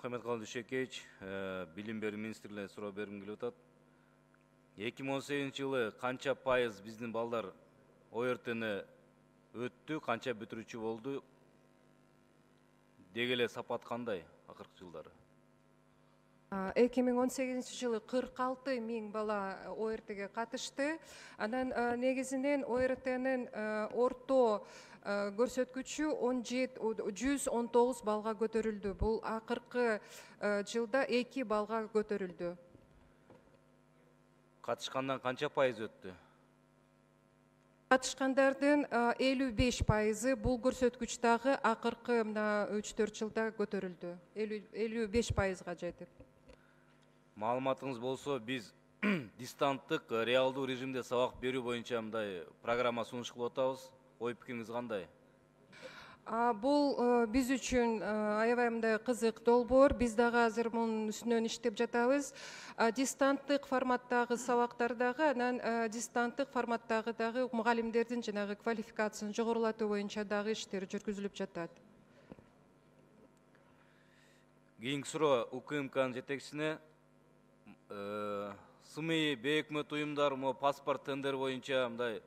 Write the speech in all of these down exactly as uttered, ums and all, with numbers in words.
Мухаммедкалый Дүйшекеевич, билим берүү министрлигине суроо бергим келип атат. эки миң он сегизинчи жылы канча пайыз биздин балдар О Р Т'ни өттү, канча бүтүрүүчү болду? Деги эле сапат кандай акыркы жылдары? эки миң он сегизинчи жылы кырк алты миң бала О Р Т'ге катышты. Анан негизинен О Р Т'нин орто көрсөткүчү жүз он тогуз балга көтөрүлдү. Бул акыркы жылда эки балга көтөрүлдү. Катышкандан канча пайыз өттү? Катышкандардын элүү беш пайызы бул көрсөткүч дагы акыркы мына үч төрт жылда көтөрүлдү. элүү беш пайызга жетип. Маалыматыңыз болсо, биз дистанттык реалдуу режимде сабак берүү боюнча мындай программа сунуш кылып атабыз. Ой пикириңиз кандай? Бул биз үчүн аябай мындай кызык долбоор. Биз дагы азыр мунун үстүнөн иштеп жатабыз. Дистанттык форматтагы сабактар дагы, анан дистанттык форматтагы дагы мугалимдердин жанагы квалификациясын жогорулатуу боюнча дагы иштер жүргүзүлүп жатат. Кийинки суроо У К М К'нын жетекчисине. СМИ, бейөкмөт уюмдар мо паспорт тендер боюнча мындай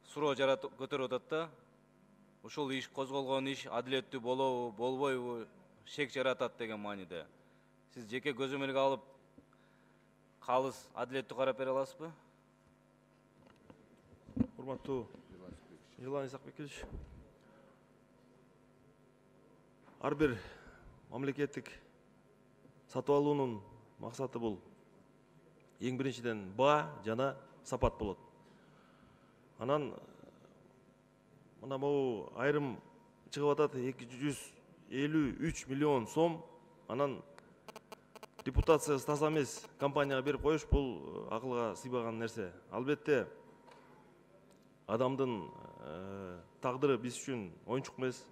суроо көтөрүп атат да. Ушул иш козголгон иш адилеттүү болобу, болбойбу, шек жаратат деген мааниде. Сиз жеке көзөмөлгө алып, калыс адилеттүү карап бере аласызбы? Урматтуу Желан Исакбекович, ар бир мамлекеттик сатып алуунун максаты бул эң биринчиден баа жана сапат болот. Анан мына могу айрым чыгып атат эки жүз элүү үч миллион сом, анан репутациясы таза эмес компанияга берип коюш бул акылга сыйбаган нерсе. Албетте адамдын тагдыры биз үчүн оюнчук эмес.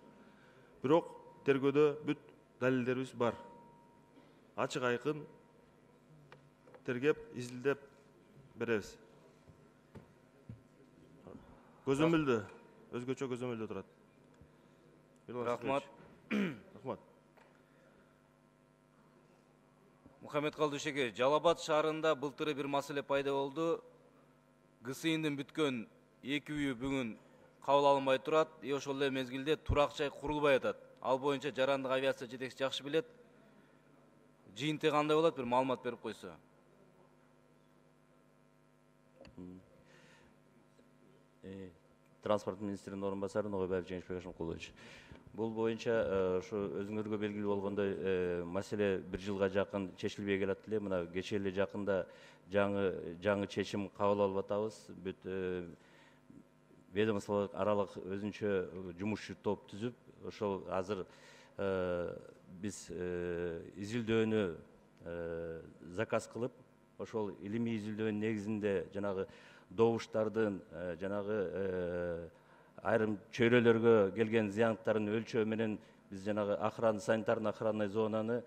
Бирок тергөөдө бүт далилдерибиз бар. Ачык айкын тергеп, изилдеп беребиз. Көзөмөлдө, өзгөчө көзөмөлдө турат. Рахмат. Рахмат. Мухаммедкалый Дүйшекеевич, Жалал Абад шаарында былтыры бир маселе пайда болду. Г С И'ндин бүткөн эки үйү бүгүн кабыл алынбай турат. И ошол эле мезгилде турак жай курулбай атат. Ал боюнча жарандык авиация жетекчиси жакшы билет. Жыйынтыгы кандай болот, бир маалымат берип койсо. Транспорт министринин орун басары Ногойбаев Жеңишбек Ашымкулович. Бул боюнча ошо өзүңөргө белгилүү болгондой маселе бир жылга жакын чечилбей келат эле. Мына кечээ эле жакында жаңы жаңы чечим кабыл алып атабыз. Бүт ведомство аралык өзүнчө жумушчу топ түзүп, ошол азыр биз изилдөөнү заказ кылып, ошол илимий изилдөөнүн негизинде жанагы добуштардын жанагы айрым чөйрөлөргө келген зыяндыктардын өлчөө менен биз жанагы охрана, санитарный охранный зонаны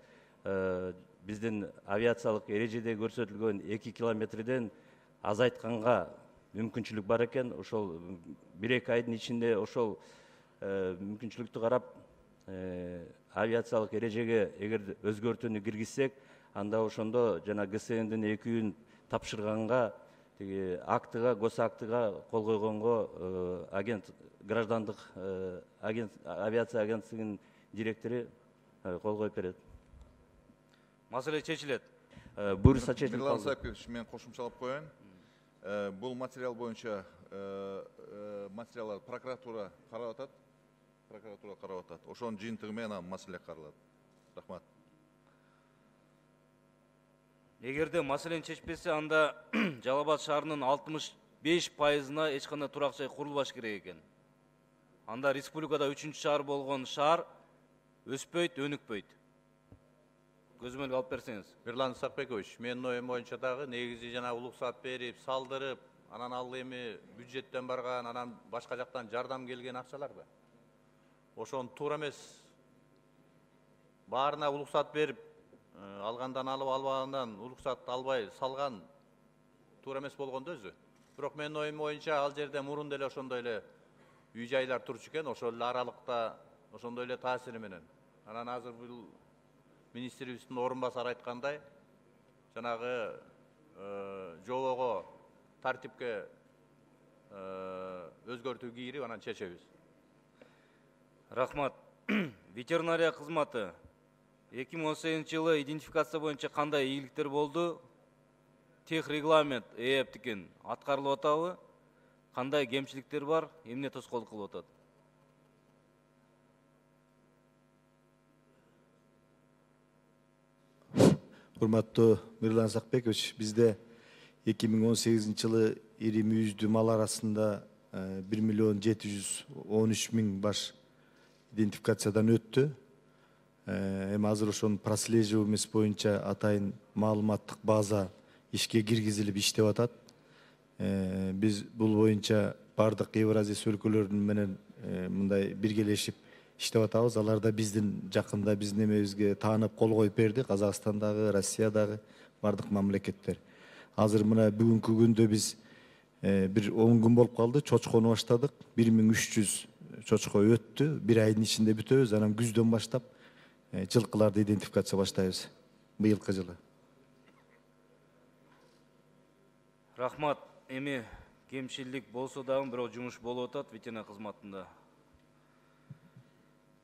биздин авиациялык эрежеде көрсөтүлгөн эки километрден азайтканга мүмкүнчүлүк бар экен. Ошол бир эки айдын ичинде ошол мүмкүнчүлүктү карап авиациялык эрежеге эгер өзгөртүүнү киргизсек, анда ошондо жана Г С И'дин эки үйүн тапшырганга, тиги актыга, гос актыга кол койгонго агент граждандык агент авиация агенттигинин директору кол коюп берет. Маселе чечилет. Буюрса чечилет. Желан Исакбекович, мен кошумчалап коеюн. Бул материал боюнча материалдар прокуратура карап атат. Прокуратура карап атат. Ошонун жыйынтыгы менен маселе каралат. Рахмат. Эгерде маселени чечпесе, анда Жалал Абад шаарынын алтымыш беш пайызына эч кандай турак жай курулбаш керек экен. Анда республикада үчүнчү шаар болгон шаар өспөйт, өнүкпөйт. Көзөмөлгө алып берсеңиз. Желан Исакбекович, менин оюм боюнча дагы негизи жана улуксат берип, салдырып, анан ал эми бюджеттен барган, анан башка жактан жардам келген акчаларбы? Ошон туура эмес. Баарына улуксат берип, алгандан алып, албагандан улуксат албай салган туура эмес болгондо өзү. Бирок менин оюм боюнча ал жерде мурун деле ошондой эле үй жайлар турчу экен, ошол эле аралыкта ошондой эле таасири менен. Анан азыр бул министрибиздин орун басары айткандай, жанагы жобого тартипке өзгөртүү кийирип анан чечебиз. Рахмат. Ветеринария кызматы эки миң он сегизинчи жылы идентификация боюнча кандай ийгиликтер болду? Тех регламент ээптикин аткарылып атабы? Кандай кемчиликтер бар? Эмне тоскоолдук кылып атат? Урматтуу Мирлан Сакбекович, бизде эки миң он сегизинчи жылы ири мүйүздүү мал арасында бир миллион жети жүз он үч миң баш идентификациядан өттү. Эми азыр ошонун прослеживаемость боюнча атайын маалыматтык база ишке киргизилип иштеп атат. Биз бул боюнча бардык Евразия өлкөлөрүнүн менен мындай биргелешип иштеп атабыз. Алар да биздин жакында биздин эмебизге таанып кол коюп берди. Казакстандагы, Россиядагы бардык мамлекеттер. Азыр мына бүгүнкү күндө биз бир он күн болуп калды, чочкону баштадык. бир миң үч жүз чочко өттү. Бир айдын ичинде бүтөбүз. Анан күздөн баштап жылкыларды идентификация баштайбыз быйылкы жылы. Рахмат. Эми кемчилик болсо дагы бирок жумуш болуп атат ветеринария кызматында.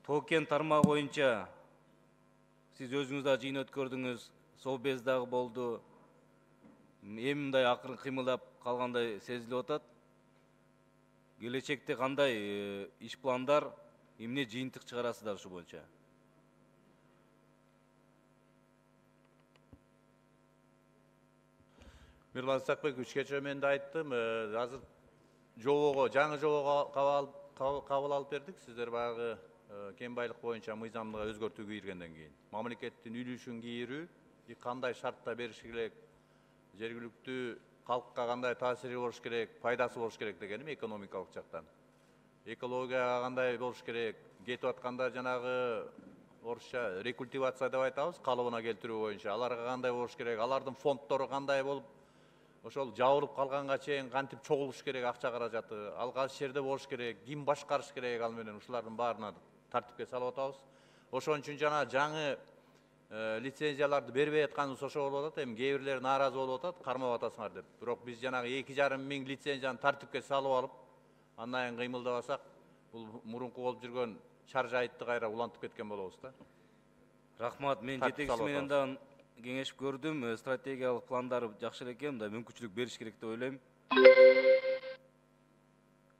Токен тармагы боюнча сиз өзүңүз да жыйын өткөрдүңүз, Совбез дагы болду. Эми мындай акырын кыймылдап калгандай сезилип атат. Келечекте кандай иш пландар, эмне жыйынтык чыгарасыздар ушу боюнча? Мирлан Сакбекович, кечээ мен да айттым, азыр жобого, жаңы жобого кабыл алып бердик. Сиздер баягы кен байлык боюнча мыйзамга өзгөртүү кийиргенден кийин мамлекеттин үлүшүн кийирүү, кандай шартта бериш керек, жергиликтүү калкка кандай таасири болуш керек, пайдасы болуш керек дегеним экономикалык жактан. Экологияга кандай болуш керек, кетип атканда жанагы орусча рекультивация деп айтабыз, калыбына келтирүү боюнча аларга кандай болуш керек, алардын фонддору кандай болуп, ошол жабылып калганга чейин кантип чогулуш керек акча каражаты, ал кайсы жерде болуш керек, ким башкарыш керек, ал менен ушулардын баарына тартипке салып атабыз. Ошон үчүн жана жаңы лицензияларды бербей атканыбыз ошо болуп атат. Эми кээ бирлер нааразы болуп атат, кармап атасыңар деп. Бирок биз жанагы эки жарым миң лицензияны тартипке салып алып, андан кийин кыймылдабасак, бул мурунку болуп жүргөн шаржайтты кайра улантып кеткен болобуз да. Рахмат. Мен жетекчиси менен да кеңешип көрдүм. Стратегиялык пландары жакшы экен, да мүмкүнчүлүк бериш керек деп ойлойм.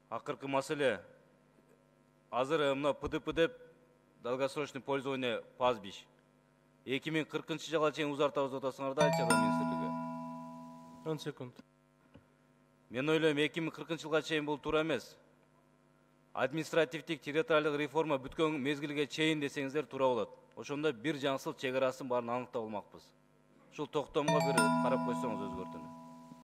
Акыркы маселе азыр мына П Д П деп долгосрочный пользование пастбищ эки миң кыркынчы жылга чейин узартабыз деп атасыңар да, Айча министрлиги. он секунд. Мен ойлойм эки миң кыркынчы жылга чейин бул туура эмес. Административдик территориалдык реформа бүткөн мезгилге чейин десеңиздер туура болот. Ошондо бир жаңсыл чек арасын баарын аныктап алмакпыз. Ушул токтомго бир карап койсоңуз өзгөртүнү.